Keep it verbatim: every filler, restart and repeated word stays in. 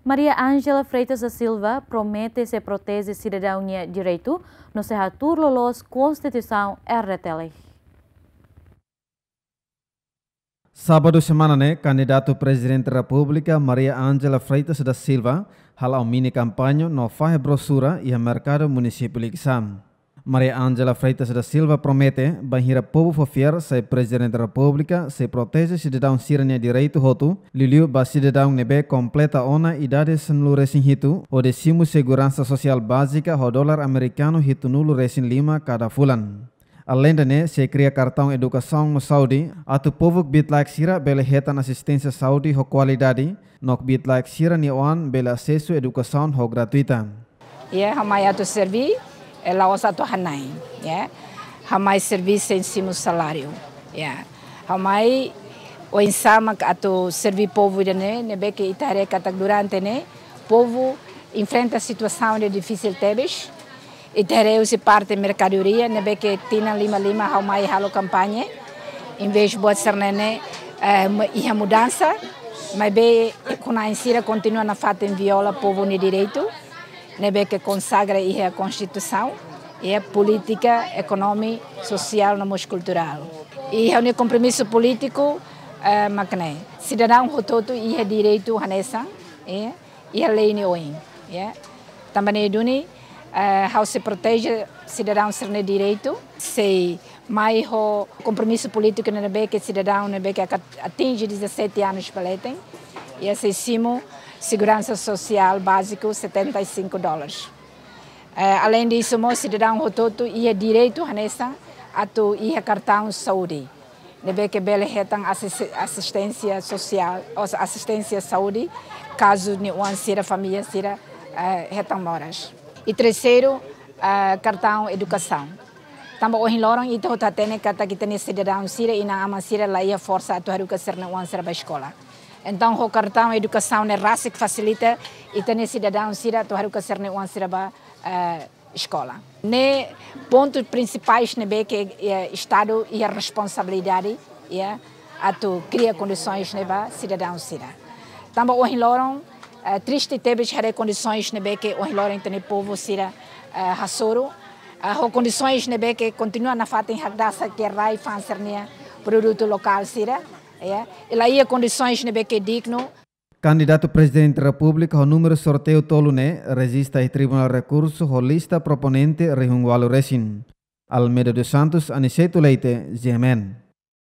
Maria Angela Freitas da Silva promete sei proteje sidadaun nia direitu no sei hatuur loloos Konstituisaun R D T L. Sábadu semana ne'e, kandidatu Prezidente Repúblika Maria Angela Freitas da Silva hala'o mini kampaña no fahe brosura iha Merkadu Munisípiu Likisá. Maria Angela Freitas da Silva promete, bainhira povu fó fiar sai Prezidente Repúblika, sei proteje sidadaun sira-nia direitu hotu, liuliu ba sidadaun ne'ebé kompleta ona idade sanulu-resin-hitu, hodi simu seguransa sosiál bázika ho dolar amerikanu hitunulu-resin-lima kada fulan. Aleinde ne'e, sei kria kartaun edukasaun no saúde, atu povu kbiit-laek sira bele hetan asisténsia saúde ho kualidade, no kbiit-laek sira-nia oan bele asesu edukasaun ho gratuita. Iha ha'u mai atu serví, eh, la'ós atu hanain, ya. Ha'u mai serví sein simu saláriu, ya. Ha'u mai oinsá mak atu serví povu ida-ne'e, ne'ebé ke ita haree katak durante ne'e, povu enfrenta situasaun ida difisil tebes. Ita haree husi parte merkadoria, ne'ebé ke tinan lima-lima ha'u mai halo kampaña. Envezes buat sira-ne'e, eh, mu-, iha mudansa, maibé ekonomia sira kontinua nafatin viola povu nia direitu, ne'ebé ke konsagra iha Konstituisaun, iha polítika, ekonomia, sosiál no mós kulturál. I ha'u-nia kompromisu polítiku, eh, mak ne'e. Sidadaun hotu-hotu iha direitu hanesan, eh, iha lei nia oin, ya. Tanba ne'e duni, eh, ha'u sei proteje sidadaun sira-nia direitu, sei mai ho kompromisu polítiku ne'ebé ke sidadaun ne'ebé ke aka-, atinje dezassete anos ba leten, ya, sei simu seguransa sosiál báziku setenta e cinco dólares. Eh, além disso, mós sidadaun hotu-hotu iha direitu hanesan atu iha kartaun saúde, ne'ebé ke bele hetan asis-, asisténsia sosiál, ou asisténsia saúde, kazu nia oan sira, família sira, eh, hetan moras. I terseiru, eh, kartaun edukasaun. Tanba ohin loron ita hotu hatene katak ita-nia sidadaun sira, inan-aman sira la iha forsa atu haruka sira-nia oan sira ba eskola. Entaun, ho kartaun edukasaun ne'e rasik fasilita ita-nia sidadaun sira atu haruka sira-nia oan sira ba, eh, eskola. Ne'e pontu prinsipais ne'ebé ke, eh, Estadu iha responsabilidade, ya, atu kria kondisoens ne'e ba sidadaun sira. Tanba ohin loron, eh, triste tebes haree kondisoens ne'ebé ke ohin loron ita-nia povu sira, eh, hasoru. Eh, ho kondisoens ne'ebé ke kontinua nafatin hakdasak iha rai-fa'an sira-nia produtu lokál sira, ya. I la iha kondisoens ne'ebé ke dignu. Kandidatu Prezidente Repúblika ho númeru sorteiu tolu ne'e rejista iha Tribunál Rekursu ho lista proponente rihun ualu resin. Almeida dos Santos, Aniceto Leite, G M N.